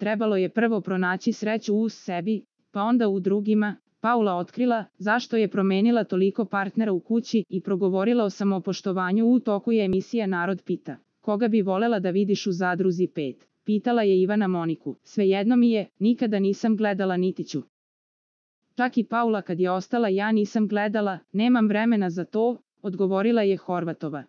trebalo je prvo pronaći sreću u sebi, pa onda u drugima. Paula otkrila zašto je promenila toliko partnera u kući i progovorila o samopoštovanju. U toku je emisija Narod pita. Koga bi volela da vidiš u Zadruzi 5? Pitala je Ivana Moniku. Svejedno mi je, nikada nisam gledala niti ću. Čak i Paula kad je ostala, ja nisam gledala, nemam vremena za to, odgovorila je Horvatova.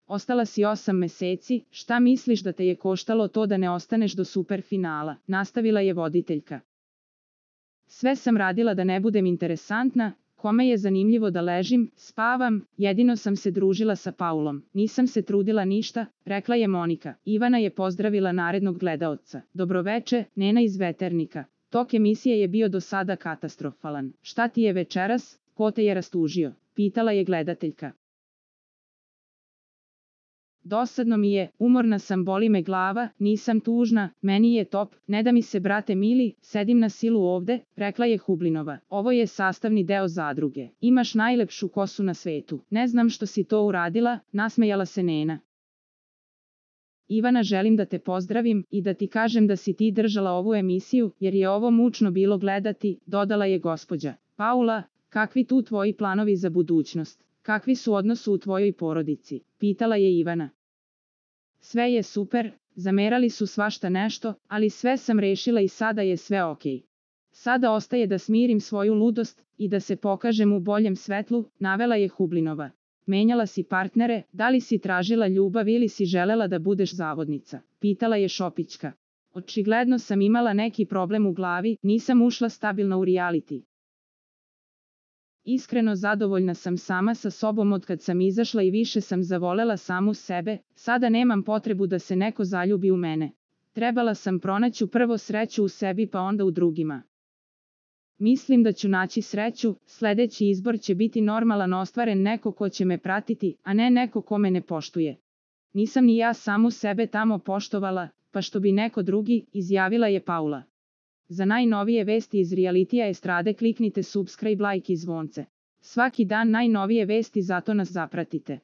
Ostala si 8 meseci, šta misliš da te je koštalo to da ne ostaneš do superfinala, nastavila je voditeljka. Sve sam radila da ne budem interesantna, kome je zanimljivo da ležim, spavam, jedino sam se družila sa Paulom, nisam se trudila ništa, rekla je Monika. Ivana je pozdravila narednog gledaoca. Dobroveče, Nena iz Veternika. Tok emisije je bio do sada katastrofalan. Šta ti je večeras, ko te je rastužio? Pitala je gledateljka. Dosadno mi je, umorna sam, boli me glava, nisam tužna, meni je top, ne da mi se brate mili, sedim na silu ovde, rekla je Hublinova. Ovo je sastavni deo zadruge. Imaš najlepšu kosu na svetu. Ne znam što si to uradila, nasmejala se Nena. Ivana, želim da te pozdravim i da ti kažem da si ti držala ovu emisiju, jer je ovo mučno bilo gledati, dodala je gospođa. Paula, kakvi tu tvoji planovi za budućnost? Kakvi su odnosi u tvojoj porodici? Pitala je Ivana. Sve je super, zamerali su svašta nešto, ali sve sam rešila i sada je sve okej. Sada ostaje da smirim svoju ludost i da se pokažem u boljem svetlu, navela je Hublinova. Menjala si partnere, da li si tražila ljubav ili si želela da budeš zavodnica? Pitala je Šopićka. Očigledno sam imala neki problem u glavi, nisam ušla stabilno u reality. Iskreno zadovoljna sam sama sa sobom od kad sam izašla i više sam zavolela samu sebe, sada nemam potrebu da se neko zaljubi u mene. Trebala sam pronaći prvo sreću u sebi pa onda u drugima. Mislim da ću naći sreću, sledeći izbor će biti normalan, ostvaren, neko ko će me pratiti, a ne neko ko me ne poštuje. Nisam ni ja samu sebe tamo poštovala, pa što bi neko drugi, izjavila je Paula. Za najnovije vesti iz realitija estrade kliknite subscribe, like i zvonce. Svaki dan najnovije vesti, zato nas zapratite.